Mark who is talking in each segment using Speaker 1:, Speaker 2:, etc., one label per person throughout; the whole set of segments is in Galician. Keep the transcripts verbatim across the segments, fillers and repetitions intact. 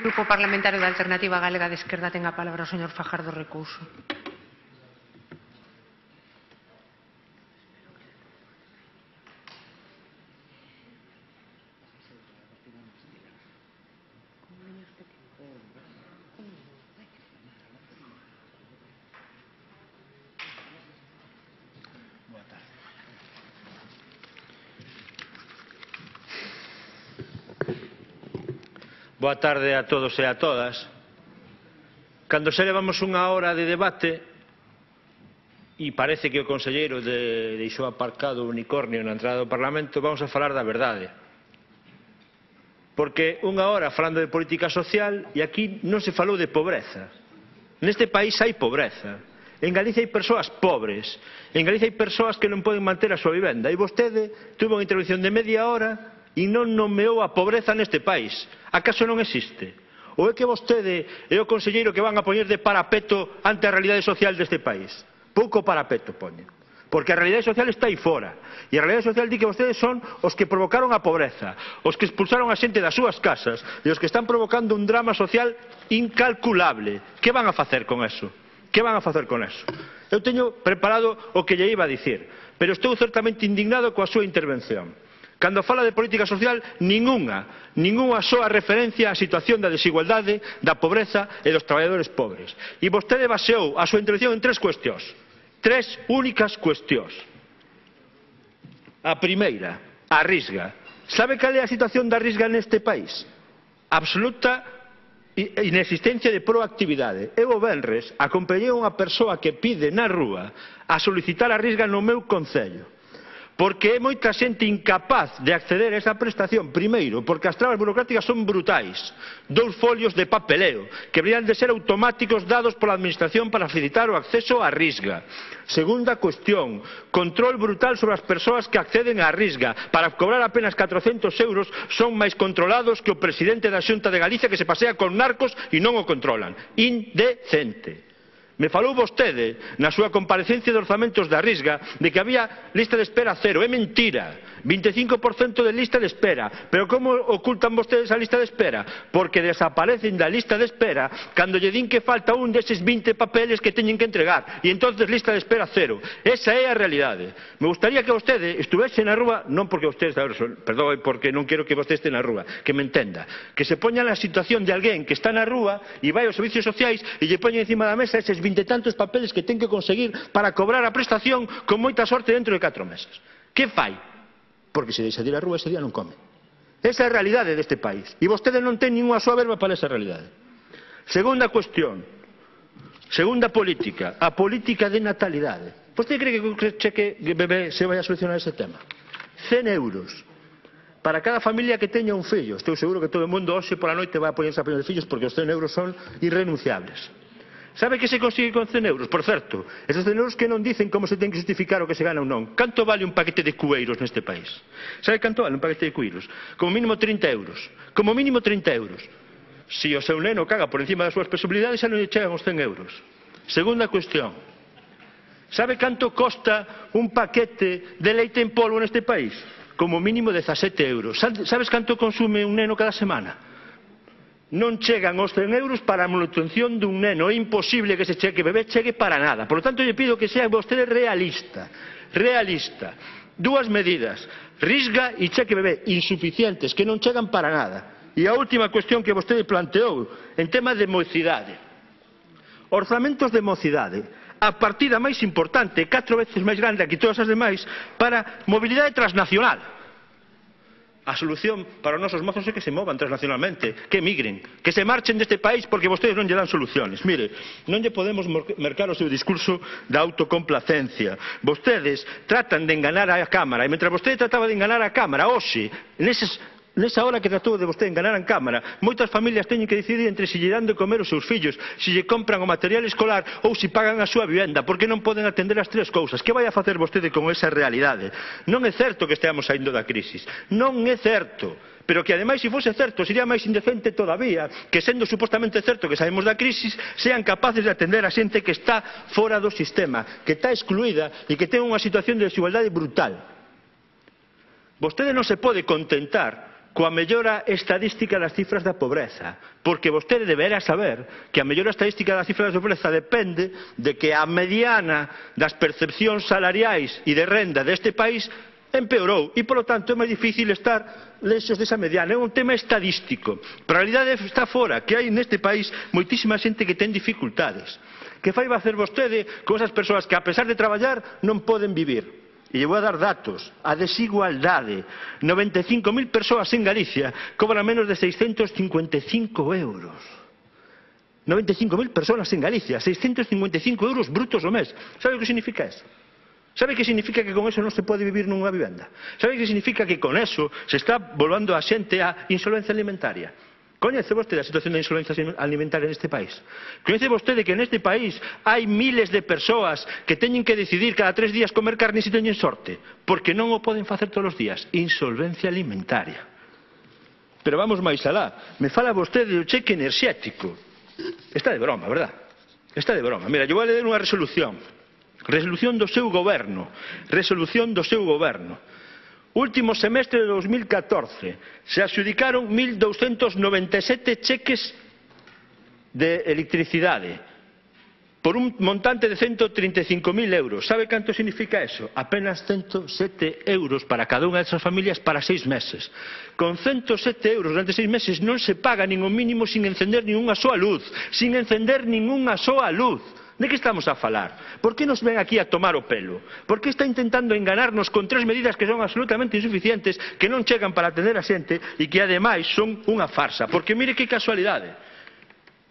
Speaker 1: Grupo Parlamentario da Alternativa Galega de Esquerda, ten a palabra o señor Fajardo Recouso.
Speaker 2: Boa tarde a todos e a todas. Cando se levamos unha hora de debate e parece que o conselleiro de, deixou aparcado o unicornio na entrada do Parlamento, vamos a falar da verdade. Porque unha hora falando de política social e aquí non se falou de pobreza. Neste país hai pobreza. En Galicia hai persoas pobres. En Galicia hai persoas que non poden manter a súa vivenda. E vostede tuvo unha intervención de media hora e non nomeou a pobreza neste país. Acaso non existe? Ou é que vostede é o conselleiro que van a poñer de parapeto ante a realidade social deste país? Pouco parapeto poñen. Porque a realidade social está aí fora. E a realidade social di que vostedes son os que provocaron a pobreza, os que expulsaron a xente das súas casas e os que están provocando un drama social incalculable. Que van a facer con eso? Que van a facer con eso? Eu teño preparado o que lle iba a dicir, pero estou certamente indignado coa súa intervención. Cando fala de política social, ningunha, ningunha soa referencia á situación da desigualdade, da pobreza e dos traballadores pobres. E vostede baseou a súa intervención en tres cuestións. Tres únicas cuestións. A primeira, a Risga. Sabe cal é a situación da Risga neste país? Absoluta inexistencia de proactividade. Eu o venres acompañei unha persoa que pide na rúa a solicitar a Risga no meu concello. Porque é moita xente incapaz de acceder a esa prestación. Primeiro, porque as trabas burocráticas son brutais. Dous folios de papeleo, que deberían de ser automáticos dados pola Administración para facilitar o acceso á Risga. Segunda cuestión, control brutal sobre as persoas que acceden á Risga. Para cobrar apenas catrocentos euros son máis controlados que o presidente da Xunta de Galicia, que se pasea con narcos e non o controlan. Indecente. Me falou vostede, na súa comparecencia de orzamentos da Risga, de que había lista de espera cero. É mentira. vinte e cinco por cento de lista de espera. Pero como ocultan vostedes a lista de espera? Porque desaparecen da lista de espera cando lle din que falta un deses vinte papeles que teñen que entregar. E entonces lista de espera cero. Esa é a realidade. Me gustaría que vostede estuvese na rúa, non porque vostede, perdón, porque non quero que vostede este na rúa, que me entenda, que se poña na situación de alguén que está na rúa e vai aos servicios sociais e lle poña encima da mesa eses vinte e tantos papeles que ten que conseguir para cobrar a prestación con moita sorte dentro de catro meses. Que fai? Porque se deixa de ir á rúa ese día non come. Esa é a realidade deste país. E vostede non ten ninguna súa verba para esa realidade. Segunda cuestión. Segunda política. A política de natalidade. Vostede cree que con cheque bebé se vai a solucionar ese tema? cen euros. Para cada familia que teña un fillo. Estou seguro que todo o mundo hoxe pola noite vai a poñerse a poñer fillos porque os cen euros son irrenunciables. Sabe que se consigue con cen euros? Por certo, esos cen euros que non dicen como se ten que justificar o que se gana ou non. Canto vale un paquete de cueiros neste país? Sabe canto vale un paquete de cueiros? Como mínimo trinta euros. Como mínimo trinta euros. Se o seu neno caga por encima das súas posibilidades, xa non lle chegan os cen euros. Segunda cuestión. Sabe canto costa un paquete de leite en polvo neste país? Como mínimo dezasete euros. Sabes canto consume un neno cada semana? Non chegan os cen euros para a manutención dun neno. É imposible que ese cheque bebé chegue para nada. Por lo tanto, lle pido que sea vostede realista. Realista. Dúas medidas. Risga e cheque bebé insuficientes, que non chegan para nada. E a última cuestión que vostede planteou, en tema de mocidade. Orzamentos de mocidade. A partida máis importante, catro veces máis grande que todas as demais, para mobilidade transnacional. A solución para os nosos mozos é que se movan transnacionalmente, que emigren, que se marchen deste país porque vostedes non lle dan soluciones. Mire, non lle podemos mercar o seu discurso da autocomplacencia. Vostedes tratan de enganar a Cámara, e mentre vostede trataba de enganar a Cámara, hoxe, neses Nesa hora que tratou de vostede enganar a Cámara, moitas familias teñen que decidir entre se lle dan de comer os seus fillos, se lle compran o material escolar ou se pagan a súa vivenda, porque non poden atender as tres cousas. Que vai a facer vostede con esa realidade? Non é certo que esteamos saindo da crisis. Non é certo. Pero que ademais, se fose certo, sería máis indecente todavía que, sendo supostamente certo que saímos da crisis, sean capaces de atender a xente que está fora do sistema, que está excluída e que ten unha situación de desigualdade brutal. Vostede non se pode contentar coa mellora estadística das cifras da pobreza, porque vostede deberá saber que a mellora estadística das cifras da pobreza depende de que a mediana das percepcións salariais e de renda deste país empeorou e, polo tanto, é máis difícil estar lexos desa mediana. É un tema estadístico. Pero a realidade está fora, que hai neste país moitísima xente que ten dificultades. Que fai va a hacer vostede con esas persoas que, a pesar de traballar, non poden vivir? E lle vou a dar datos. A desigualdade. noventa e cinco mil persoas en Galicia cobran menos de seiscentos cincuenta e cinco euros. noventa e cinco mil persoas en Galicia, seiscentos cincuenta e cinco euros brutos ao mes. Sabe o que significa eso? Sabe que significa que con eso non se pode vivir nunha vivenda? Sabe que significa que con eso se está volvando a xente a insolvencia alimentaria? Coñece vostede a situación de insolvencia alimentaria neste país? Coñece vostede que neste país hai miles de persoas que teñen que decidir cada tres días comer carne se teñen sorte? Porque non o poden facer todos os días. Insolvencia alimentaria. Pero vamos máis alá. Me fala vostede do cheque enerxético. Está de broma, verdad? Está de broma. Mira, eu vou ler unha resolución. Resolución do seu goberno. Resolución do seu goberno. Último semestre de dos mil catorce se adxudicaron mil douscentos noventa e sete cheques de electricidade por un montante de ciento treinta e cinco mil euros. Sabe canto significa eso? Apenas ciento sete euros para cada unha desas familias para seis meses. Con ciento sete euros durante seis meses non se paga nin o mínimo sin encender nin unha soa luz. Sin encender nin unha soa luz. De que estamos a falar? Por que nos ven aquí a tomar o pelo? Por que está intentando enganarnos con tres medidas que son absolutamente insuficientes, que non chegan para atender a xente e que ademais son unha farsa? Porque mire que casualidade.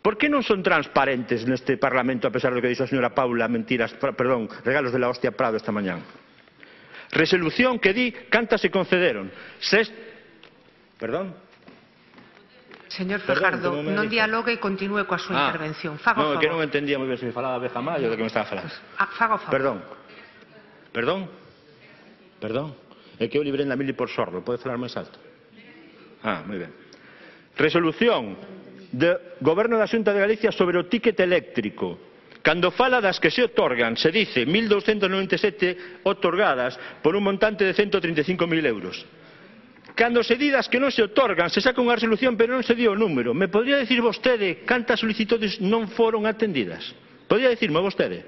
Speaker 2: Por que non son transparentes neste Parlamento, a pesar do que dixo a señora Paula, mentiras, perdón, regalos de la hostia Prado esta mañán? Resolución que di cantas se concederon. Sest... Perdón?
Speaker 1: Señor Fajardo, non dialogue e continúe coa súa
Speaker 2: ah,
Speaker 1: intervención. Faga
Speaker 2: non,
Speaker 1: o favor.
Speaker 2: que non entendía moi ben se me falaba de Jamal ou de que me estaba falando.
Speaker 1: Ah, faga o favor.
Speaker 2: Perdón. Perdón. Perdón. É que eu librei na mili por sordo. Pode falar máis alto? Ah, moi ben. Resolución do Goberno da Xunta de Galicia sobre o ticket eléctrico. Cando fala das que se otorgan, se dice mil douscentos noventa e sete otorgadas por un montante de ciento treinta e cinco mil euros. Cando se di das que non se otorgan, se saca unha resolución, pero non se di o número. Me podría dicir vostede cantas solicitudes non foron atendidas? Podría dicirme vostede?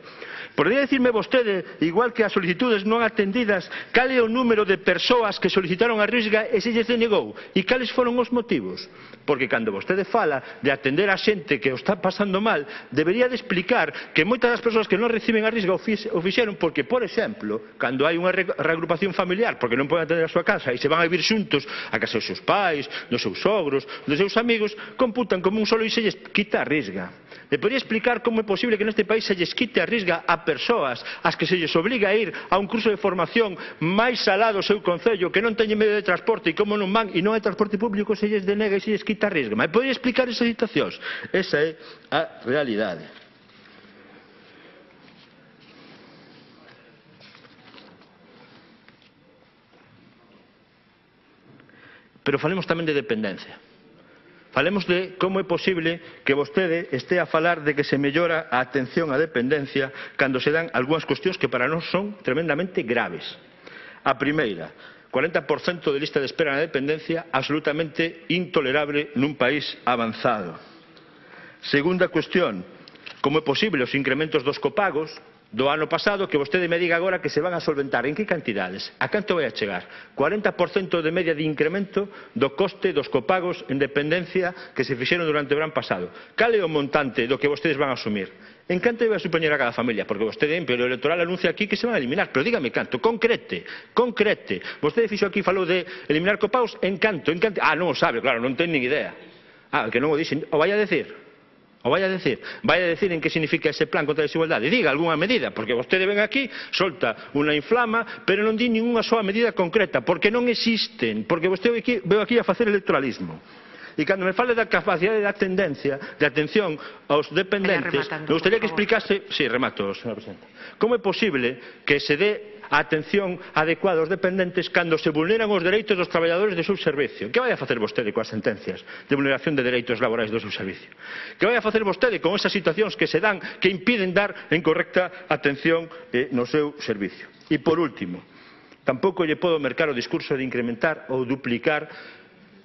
Speaker 2: Podría dicirme vostede, igual que as solicitudes non atendidas, cal é o número de persoas que solicitaron a Risga e se lles denegou? E cales foron os motivos? Porque cando vostede fala de atender a xente que o está pasando mal, debería de explicar que moitas das persoas que non reciben a Risga o fixeron porque, por exemplo, cando hai unha reagrupación familiar, porque non poden atender a súa casa e se van a vivir xuntos a casa dos seus pais, dos seus sogros, dos seus amigos, computan como un solo e se lles quita a Risga. Me podría explicar como é posible que neste país se lles quite a Risga a persoas ás que se lles obliga a ir a un curso de formación máis alá do seu concello, que non teñen medio de transporte e como non van e non hai transporte público, se lles denega e se lles quita a Risga. Me podría explicar esas situacións? Esa é a realidade. Pero falemos tamén de dependencia. Falemos de como é posible que vostede este a falar de que se mellora a atención á dependencia cando se dan algunhas cuestións que para nós son tremendamente graves. A primeira, cuarenta por cento de lista de espera na dependencia, absolutamente intolerable nun país avanzado. Segunda cuestión, como é posible os incrementos dos copagos do ano pasado que vostede me diga agora que se van a solventar. En que cantidades? A canto vai a chegar? cuarenta por cento de media de incremento do coste dos copagos en dependencia que se fixeron durante o verán pasado. Cal é o montante do que vostedes van a asumir? En canto vai a supoñer a cada familia? Porque vostede en período electoral anuncia aquí que se van a eliminar. Pero dígame canto, concrete, concrete. Vostede fixo aquí, falou de eliminar copagos, en canto, en canto. Ah, non o sabe, claro, non ten nin idea. Ah, que non o dixen, o vai a decir. O vai a decir, vai a decir en que significa ese plan contra a desigualdade. Diga algunha medida, porque vostede ven aquí, solta unha inflama, pero non di ninguna soa medida concreta, porque non existen, porque vostede aquí, veo aquí a facer electoralismo. E cando me fale da capacidade da tendencia, de atención aos dependentes, me gustaría que explicase, sí, remato, señora presidenta, como é posible que se dé a atención adecuada aos dependentes cando se vulneran os dereitos dos traballadores do seu servicio. Que vai a facer vostede coas sentencias de vulneración de dereitos laborais do seu servicio? Que vai a facer vostede con esas situacións que se dan que impiden dar en correcta atención eh, no seu servicio? E por último, tampouco lle podo mercar o discurso de incrementar ou duplicar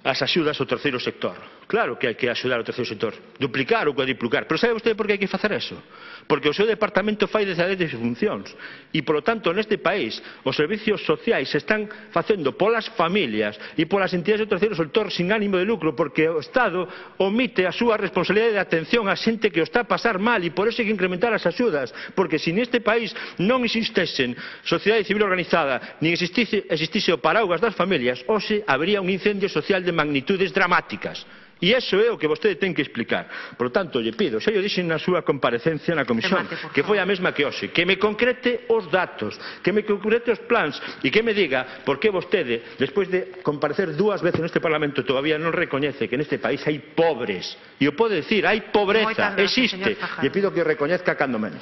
Speaker 2: as axudas ao terceiro sector. Claro que hai que axudar ao terceiro sector, duplicar ou cuadriplicar, pero sabe vostede por que hai que facer eso? Porque o seu departamento fai dezadete funcións e, polo tanto, neste país os servicios sociais se están facendo polas familias e polas entidades do terceiro sector sin ánimo de lucro, porque o Estado omite a súa responsabilidade de atención a xente que o está a pasar mal e por eso hai que incrementar as axudas, porque se neste país non existesen sociedade civil organizada nin existise, existise o paraugas das familias, hoxe habería un incendio social de magnitudes dramáticas. E iso é o que vostede ten que explicar. Por lo tanto, lle pido, xa lle dixen na súa comparecencia na comisión, que foi a mesma que hoxe, que me concrete os datos, que me concrete os plans e que me diga por que vostede, despois de comparecer dúas veces neste Parlamento, todavía non recoñece que neste país hai pobres. E o pode decir, hai pobreza, existe. Lle pido que o recoñezca cando menos.